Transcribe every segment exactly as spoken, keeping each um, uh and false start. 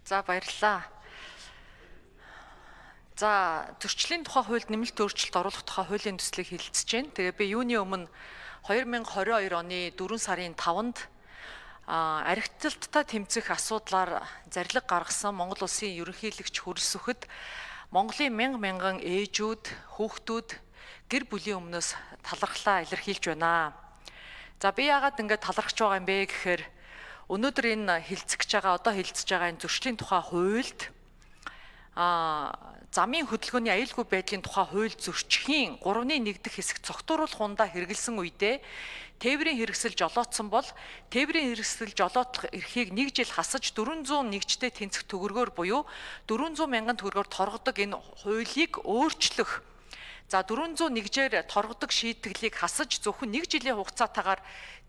За баярлалаа. За зөрчлийн тухай хуульд нэмэлт өөрчлөлт оруулах тухай хуулийн төслийг хэлэлцэж байна. Тэгээ би юуны өмнө две тысячи двадцать two оны дөрвөн сарын таванд архитекталттай тэмцэх асуудлаар зарлиг гаргасан Монгол Улсын ерөнхийлөгч Хүрэл Сүхэд Монголын мянга мянган ээжүүд, хүүхдүүд гэр бүлийн өмнөөс талархлаа илэрхийлж байна. За би яагаад ингэж талархж байгаа юм бэ гэхээр өнөөдөр энэ хилцэж байгаа, одоо хилцэж байгаа энэ зөрчлийн тухай хуульд а замын хөдөлгөөний аюулгүй байдлын тухай хууль зөрчихийн гуравны нэг дэх хэсэг цогтууруулах хундаа хэрэгэлсэн үедээ тээврийн хэрэгсэл жолоодсон бол тээврийн хэрэгсэл жолоодлох эрхийг нэг жил хасаж дөрвөн зуун нэгжтэй тэнцэх төгрөгөөр буюу дөрвөн зуун мянган төгрөгөөр торгодог энэ хуулийг өөрчлөх. За дөрвөн зуун нэгжээр торгодог шийтгэлийг хасаж зөвхөн нэг жилийн хугацаатаагаар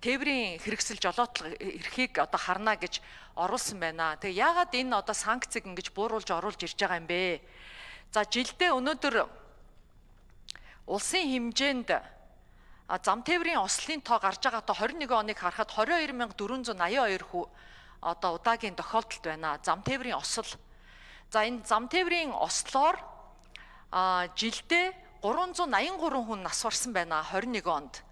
тээврийн хэрэгсэл жолоодлох эрхийг одоо харна гэж оруулсан байна. Тэгээ яагаад энэ одоо санкцыг ингэж бууруулж оруулж ирж байгаа юм бэ? За жилдээ өнөөдөр улсын хэмжээнд зам тээврийн ослын тоо гарч байгаа одоо двадцать one оныг харахад двадцать two thousand four hundred eighty-two хүү одоо удаагийн тохиолдолд байна. Зам тээврийн осол. За энэ зам тээврийн ослоор а жилдээ three hundred eighty-three хүн нас барсан байна двадцать one онд.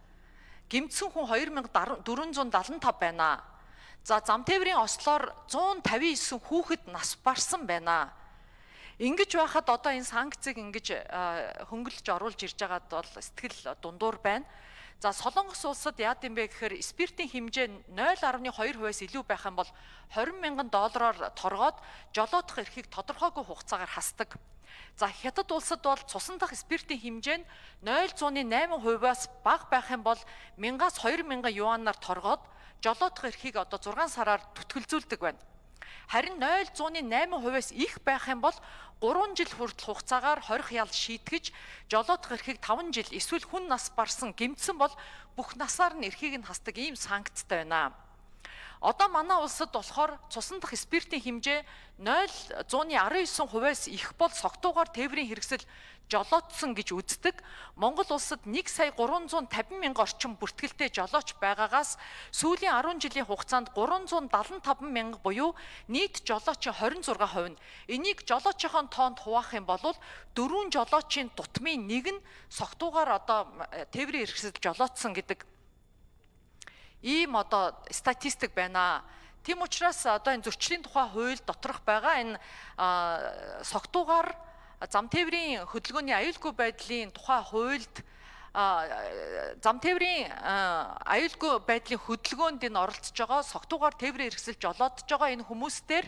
Гэмтсэн хүн two thousand four hundred seventy-five байна. За зам тээврийн ослоор one hundred fifty-nine хүүхэд нас барсан байна. Ингэж байхад одоо энэ санкцыг ингэж хөнгөлж оруулж ирж байгаад бол сэтгэл дундуур байна. За Солонгос улсад яад юм бэ гэхээр спиртийн хэмжээ zero point two хувиас илүү байх юм бол twenty мянган доллараар торгоод жолоодох эрхийг тодорхойгүй хугацаагаар хасдаг. За Хятад улсад бол цусан дахь спиртийн хэмжээ нь zero point eight хувиас бага байх юм бол one thousand юанаар торгоод жолоодох эрхийг одоо six сараар түтгэлзүүлдэг байна. Харин zero point eight хувиас их байх юм бол three жил хүртэл хугацаагаар хорих ял шийтгэж жолоодох эрхийг five жил эсвэл хүн нас барсан гэмтсэн бол бүх насаар нь эрхийг нь хасдаг ийм санкцтай байна. Одоо манай улсад болохоор цусан дахь спиртийн хэмжээ zero point one nine хувиас их бол согтуугаар тээврийн хэрэгсэл жолоодсон гэж үздэг. Монгол улсад one сая three hundred fifty мянган орчим бүртгэлтэй жолооч байгаагаас сүүлийн ten жилийн хугацаанд three hundred seventy-five мянга буюу нийт жолоочийн twenty-six percent нь энийг жолоочийн тоонд хуваах юм бол дөрвөн жолоочийн дутмын нэг нь согтуугаар одоо тээврийн хэрэгсэл жолоодсон гэдэг ийм одоо статистик байна. Тийм учраас одоо энэ зөрчлийн тухай хууль доторх байгаа энэ согтуугаар зам тээврийн хөдөлгөөний аюулгүй байдлын тухай хуульд зам тээврийн аюулгүй байдлын хөдөлгөөнд энэ оролцож байгаа согтуугаар тээврийн хэрэгсэл жолоодж байгаа энэ хүмүүстээр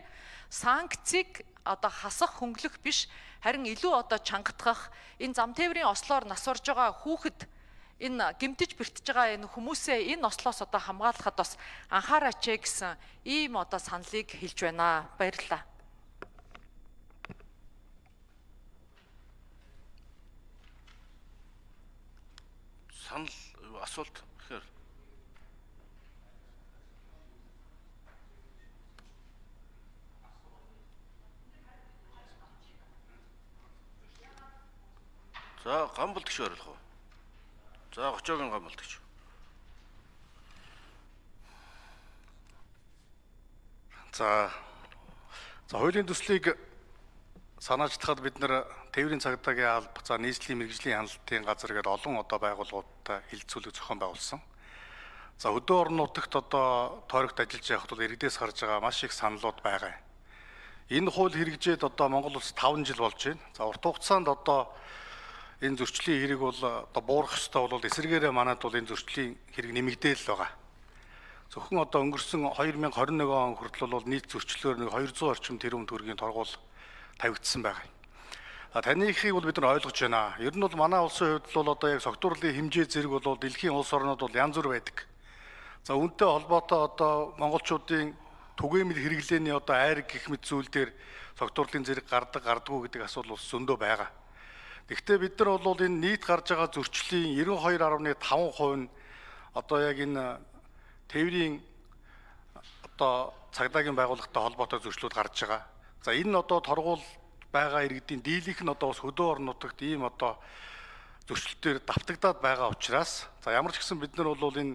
санкцыг одоо хасах хөнгөлөх биш харин илүү одоо чангатгах энэ зам тээврийн ослоор нас барж байгаа хүүхэд энэ гэмтэж бэртэж байгаа энэ хүмүүсээ энэ ослоос одоо хамгаалахад бас анхаараач гэсэн ийм одоо саналыг хэлж байна. Баярлалаа. Санал асуулт гэхээр за гамбалт гэж ойлгох уу? За Гочоогийн гамбалт гэж. За за хуулийн төслийг санаачдахад бид нэр тээврийн цагдаагийн алба, за нийслэлийн мэргэжлийн хяналтын газар гэдэг олон одоо байгууллагуудтай хилцүүлэг зохион байгуулсан. За хөдөө орон нутагт одоо тойрогт ажиллаж явахд бол иргэдээс гарч байгаа маш их саналууд байгаа. Энэ хууль хэрэгжээд одоо Монгол улс five жил болж байна. За урт хугацаанд одоо энэ зөрчлийн хэрэг бол одоо буурах ёстой бол эсэргээрээ манайд бол энэ зөрчлийн хэрэг нэмэгдээл байгаа. Зөвхөн одоо өнгөрсөн twenty twenty-one он хүртэл бол нийт зөрчлөөр two hundred орчим тэрбум төгрөгийн торгуул тавигдсан байгаа. А танихыг бол бид нар ойлгож байна. Ер нь бол манай улсын хувьд бол одоо яг согтуурлын хэмжээ зэрэг бол дэлхийн улс орнууд бол янз бүр байдаг. За үүнтэй холбоотой одоо монголчуудын түгээмэл хэрэглээний одоо айраг гэх мэт зүйл дээр согтуурлын зэрэг гардаг гардаггүй гэдэг асуудал бас зөндөө байгаа. Гэхдээ бид нар бол энэ нийт гарч байгаа зөрчлийн ninety-two point five percent нь одоо яг энэ тээврийн одоо цагдаагийн байгууллагатай холбоотой зөрчлүүд гарч байгаа. За энэ одоо торгуул байгаа иргэдийн дийлэнх нь одоо бас хөдөө орон нутагт ийм одоо зөрчилтөөр давтагдаад байгаа учраас за ямар ч гэсэн бид нар бол энэ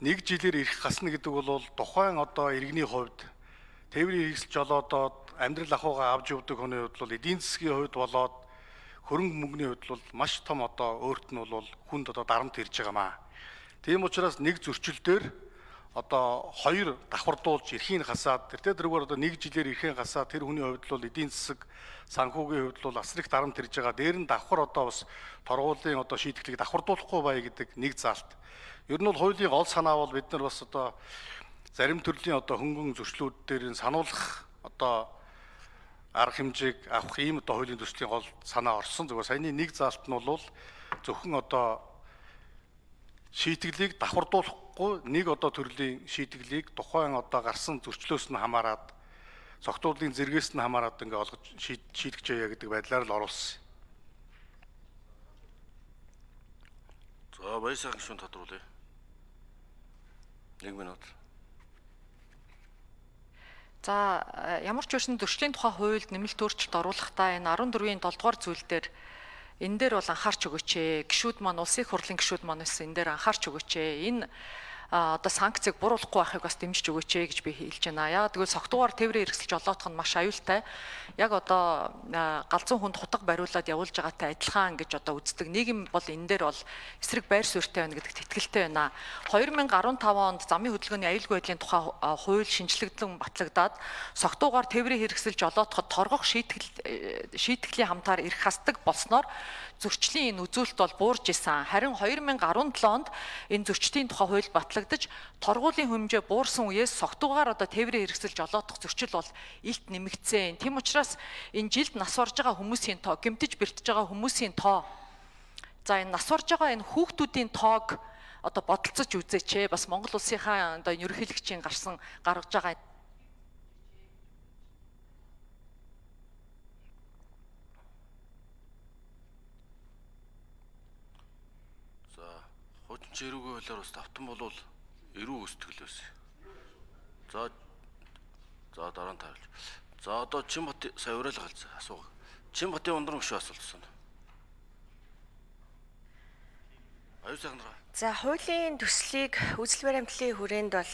нэг жилээр ирэх гасна гэдэг бол тухайн одоо иргэний хувьд тээврийн хэрэгсэл жолоодоод амьдрал ахуйгаа авч явдаг хүний хувьд бол эдийн засгийн хувьд болоод хөрөнгө мөнгөний хувьд бол маш том одоо өөрт нь бол хүнд одоо дарамт ирж байгаамаа. Тийм учраас нэг зөрчил дээр одоо хоёр давхардуулж эрхийн хасаад тэр тэргээр одоо нэг жилээр эрхийн хасаад тэр хүний хувьд бол эдийн засаг санхүүгийн хувьд бол асар их дарамт ирж байгаа. Дээр нь давхар одоо бас торгуулийн одоо шийтгэлийг давхардуулахгүй бай гэдэг нэг заалт. Ер нь бол хуулийн гол санаа бол бид нар бас одоо зарим төрлийн одоо хөнгөн зөрчлүүд дээр нь сануулах одоо арга хэмжээг авах ийм одоо хуулийн төслийн гол санаа орсон. Зөвхөн саяны нэг заалт нь бол зөвхөн одоо шийтгэлийг давхардуулахгүй нэг одоо төрлийн шийтгэлийг тухайн одоо гарсан зөрчлөөс нь хамаарат цогтуудлын зэргээс нь хамаарат ингээ олгож шийтгэж яа гэдэг байдлаар л оруулсан. За баясаа гүшүүн тодруулъя. нэг минут. За ямар ч үсэн зөрчлийн тухай хуульд нэмэлт өөрчлөлт оруулахдаа энэ арван дөрвийн долоо дугаар зүйл дээр энэ дээр бол анхаарч өгөөч ээ. Гишүүд маань улсын их хурлын гишүүд маань энэ дээр анхаарч өгөөч ээ. Энэ одоо санкцыг буруулахгүй байхыг бас дэмжиж өгөөч ээ гэж би хэлж байна. Яагаад гэвэл согтуугаар тээврийн хэрэгсэл жолоодох нь маш аюултай. Яг одоо галзуу хүнд хутга бариулаад явуулж байгаатай адилхан гэж одоо үздэг. Нийгэм бол энэ дээр бол эсрэг байр суурьтай байна гэдэгт итгэлтэй байна. две тысячи десять онд замын хөдөлгөөний аюулгүй байдлын тухай хууль шинжлэгдэн батлагдаад согтуугаар тээврийн хэрэгсэл жолоодоход торгох шийтгэл шийтгэлийн хамтаар эрх хасдаг болсноор зөрчлийн энэ үзүүлэлт бол буурж исэн. Харин две тысячи десять онд энэ зөрчлийн тухай хууль батлагдаж торгуулийн хэмжээ буурсан үеэс согтуугаар одоо тээврийн хэрэгсэл жолоодох зөрчил бол илт нэмэгдсэн. Тийм учраас энэ жилд нас барж байгаа хүмүүсийн тоо, гэмтэж бэртэж байгаа хүмүүсийн тоо. За энэ нас барж байгаа энэ хүүхдүүдийн тоог одоо бодолцож үзээч. Бас Монгол улсынхаа одоо ерөнхийлөгчийн гарсан гаргаж байгаа Хуучин эрүүгийн хуулиар бас давтан болвол эрүү үүсдэг л байсан. За за дараа нь таарч. За одоо Чинбат сая уриалга галзаа асууга. Чинбатын ундран гүшүү асуултсан. Аюу сайхан нараа. За хуулийн төслийг үзэл баримтлалын хүрээнд бол